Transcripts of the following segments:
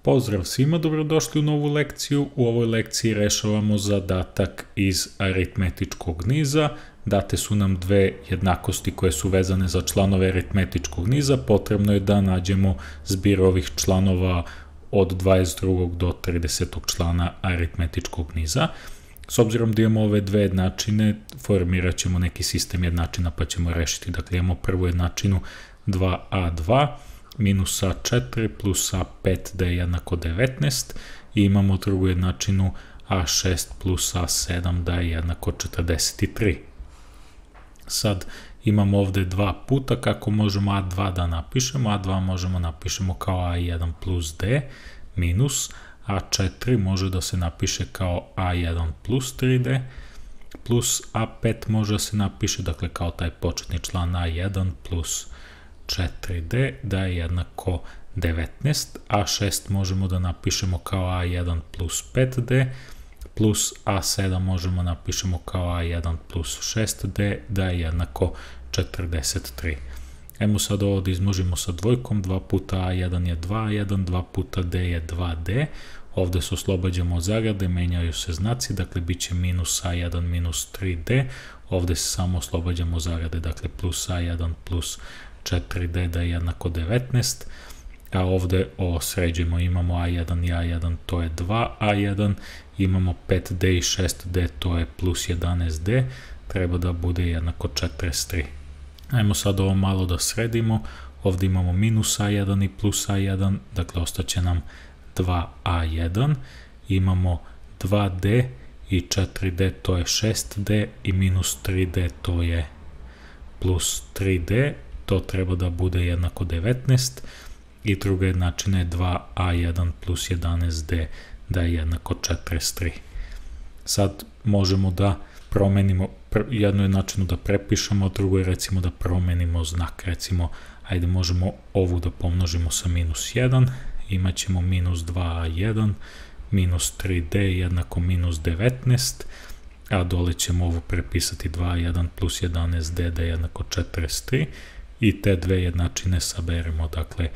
Pozdrav svima, dobrodošli u novu lekciju. U ovoj lekciji rešavamo zadatak iz aritmetičkog niza. Date su nam dve jednakosti koje su vezane za članove aritmetičkog niza. Potrebno je da nađemo zbir ovih članova od 22. do 30. člana aritmetičkog niza. S obzirom da imamo ove dve jednačine, formirat ćemo neki sistem jednačina pa ćemo rešiti. Dakle, imamo prvu jednačinu 2a2 minus a4 plus a5 da je jednako 19 i imamo drugu jednačinu a6 plus a7 da je jednako 43. Sad imamo ovde dva puta kako možemo a2 da napišemo. a2 možemo napišemo kao a1 plus d minus a4 može da se napiše kao a1 plus 3d plus a5 može da se napiše, dakle kao taj početni član a1 plus 4d da je jednako 19, a6 možemo da napišemo kao a1 plus 5d plus a7 možemo napišemo kao a1 plus 6d da je jednako 43. Ajmo sad ovo da izmnožimo sa dvojkom, 2 puta a1 je 2a1, 2 puta d je 2d, ovde se oslobađamo od zagrade, menjaju se znaci, dakle bit će minus a1 minus 3d, ovde se samo oslobađamo od zagrade, dakle plus a1 plus 4d da je jednako 19, a ovde ovo sređujemo, imamo a1 i a1, to je 2a1, imamo 5d i 6d, to je plus 11d, treba da bude jednako 43. Ajmo sad ovo malo da sredimo, ovde imamo minus a1 i plus a1, dakle ostaće nam 2a1, imamo 2d i 4d, to je 6d i minus 3d, to je plus 3d, to treba da bude jednako 19 i druga jednačina je 2a1 plus 11d da je jednako 43. Sad možemo da promenimo jednu jednačinu da prepišemo, drugo je recimo da promenimo znak, recimo ajde možemo ovu da pomnožimo sa minus 1, imat ćemo minus 2a1 minus 3d jednako minus 19, a dole ćemo ovo prepisati 2a1 plus 11d da je jednako 43 i te dve jednačine saberemo, dakle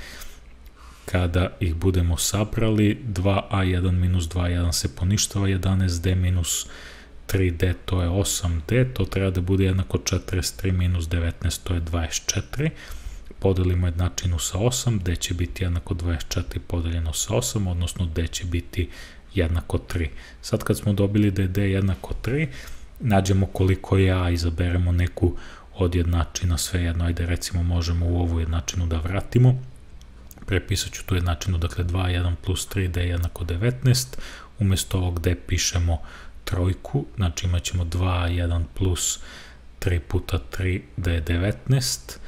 kada ih budemo sabrali 2a1 minus 2a1 se poništava, 11d minus 3d to je 8d, to treba da bude jednako 43 minus 19 to je 24, podelimo jednačinu sa 8, d će biti jednako 24 podeljeno sa 8, odnosno d će biti jednako 3. Sad kad smo dobili da je d jednako 3, nađemo koliko je a, izaberemo neku od jednačina, svejedno, ajde recimo možemo u ovu jednačinu da vratimo, prepisat ću tu jednačinu, dakle 2a1 plus 3d jednako 19, umjesto ovog d pišemo trojku, znači imat ćemo 2a1 plus 3 puta 3 da je 19,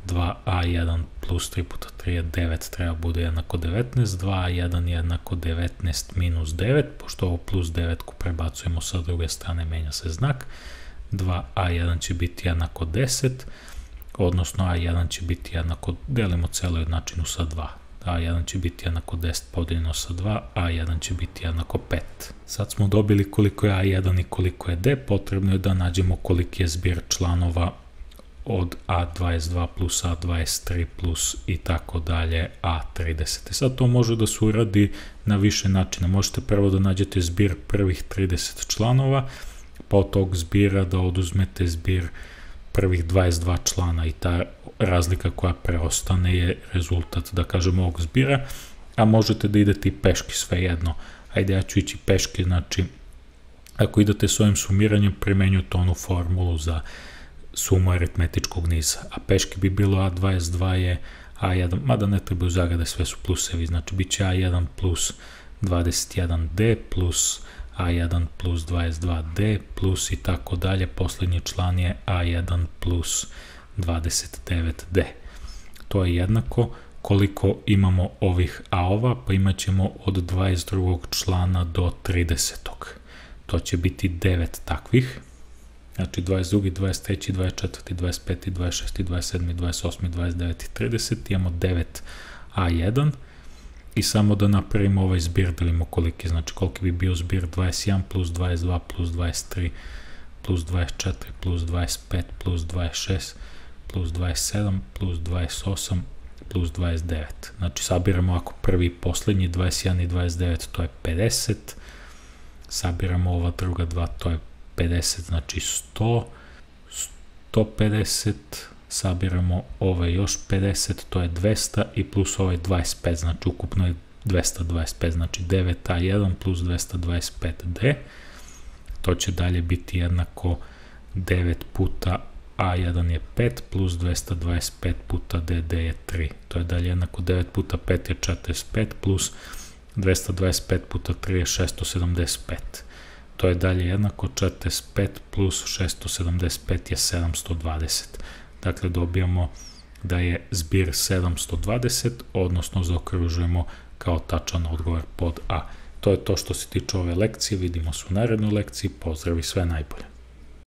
2a1 plus 3 puta 3 je 9, treba bude jednako 19, 2a1 jednako 19 minus 9, pošto ovo plus 9 prebacujemo sa druge strane, menja se znak, 2a1 će biti jednako 10, odnosno a1 će biti jednako, delimo celu jednačinu sa 2, a1 će biti jednako 10 podeljeno sa 2, a1 će biti jednako 5. Sad smo dobili koliko je a1 i koliko je d, potrebno je da nađemo koliki je zbir članova od a22 plus a23 plus i tako dalje a30. Sad to može da se uradi na više načina, možete prvo da nađete zbir prvih 30 članova, pa od tog zbira da oduzmete zbir prvih 22 člana i ta razlika koja preostane je rezultat, da kažemo, ovog zbira, a možete da idete i peški, svejedno. Ajde, ja ću ići peški, znači, ako idete s ovim sumiranjem, primenjujete onu formulu za sumu aritmetičkog niza, a peški bi bilo a22 je a1, mada ne trebaju zagrade, sve su plusevi, znači bit će a1 plus 21d plus a1 plus 22d plus i tako dalje, poslednji član je a1 plus 29d. To je jednako koliko imamo ovih a-ova, pa imat ćemo od 22. člana do 30. To će biti 9 takvih, znači 22, 23, 24, 25, 26, 27, 28, 29 i 30, imamo 9 a1, i samo da napravimo ovaj zbir, da vidimo koliki, znači koliki bi bio zbir 21 plus 22 plus 23 plus 24 plus 25 plus 26 plus 27 plus 28 plus 29. Znači sabiramo ako prvi i poslednji 21 i 29, to je 50. Sabiramo ova druga dva, to je 50, znači 100. 150, sabiramo ove još 50, to je 200 i plus ovaj 25, znači ukupno je 225, znači 9a1 plus 225d, to će dalje biti jednako 9 puta a1 je 5 plus 225 puta dd je 3, to je dalje jednako 9 puta 5 je 45 plus 225 puta 3 je 675. To je dalje jednako 45 plus 675 je 720. Dakle, dobijamo da je zbir 720, odnosno zaokružujemo kao tačan odgovor pod A. To je to što se tiče ove lekcije, vidimo se u narednoj lekciji, pozdrav i sve najbolje.